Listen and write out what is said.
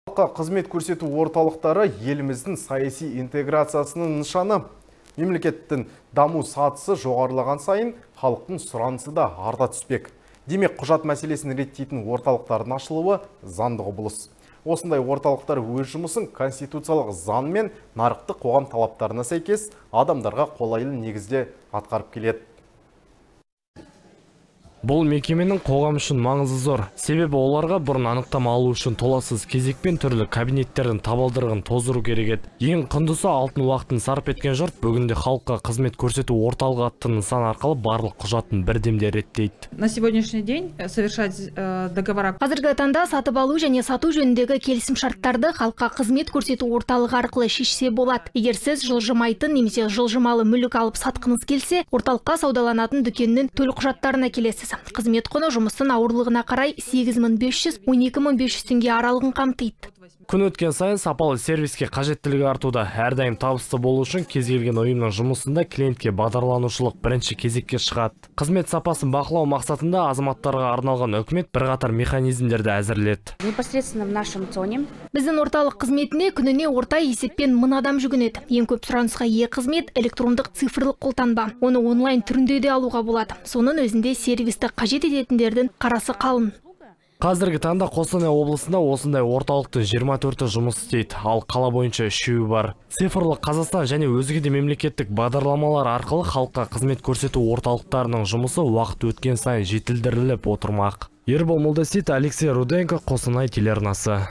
Халыққа қызмет көрсету орталықтары еліміздің саяси интеграциясының нышаны. Мемлекеттің даму сатысы жоғарылаған сайын халықтың сұранысы да арта түспек. Демек, құжат мәселесін реттейтін орталықтардың ашылуы заңды құбылыс. Осындай орталықтар өз жұмысын конституциялық заң мен нарықтық қоғам талаптарына сәйкес адамдарға қолайлы негізде атқарып келеді. Бұл мекеменің қоғам үшін маңызы зор. Себебі оларға бұрын анықтама алу үшін толассыз кезекпен түрлі кабинеттердің табалдырығын тоздыру керек еді. Ең құндысы алтын уақытын сарп еткен жұрт бүгінде халыққа қызмет көрсету орталығы атты нысан арқылы барлық құжатын бірдемде реттейді. На сегодняшний день совершать договора. Қазіргі таңда сатып алу және сату жөніндегі келісім шарттарды халыққа қызмет көрсету орталығы арқылы шешсе болады. Егер сіз жылжымайтын немесе жылжымалы мүлік алып сатқыңыз келсе, орталыққа саудаланатын дүкеннің төлқұжаттарына келесіз. Қызмет құны жұмыстың ауырлығына қарай 8500-12500 теңге аралығын қамтиды. Күн өткен сайын сапалы сервиске қажеттілігі артуда. Әрдайым табысты болу үшін кез келген ұйымның жұмысында клиентке бағдарланушылық бірінші кезекке шығады. Қызмет сапасын бақылау мақсатында азаматтарға арналған үкімет бірқатар механизмдерді әзірледі. Непосредственно в нашем зоне. Біздің орталық қызметіне күніне орта есеппен 1000 адам жүгінеді. Ең көп сұранысқа ие қызмет электрондық цифрлық қолтаңба. Оны онлайн түрінде де алуға болады. Соның өзінде сервисті қажет ететіндердің қарасы қалың. Қазіргі таңда Қостанай облысында осындай орталықтың 24-і жұмыс істейді, ал қала бойынша 3-і бар. Цифрлық Қазақстан және өзге де мемлекеттік бағдарламалар арқылы халыққа қызмет көрсету орталықтарының жұмысы уақыт өткен сайын жетілдіріліп отырмақ. Ербол Молдасейіт, Алексей Руденко, Қостанай телеарнасы.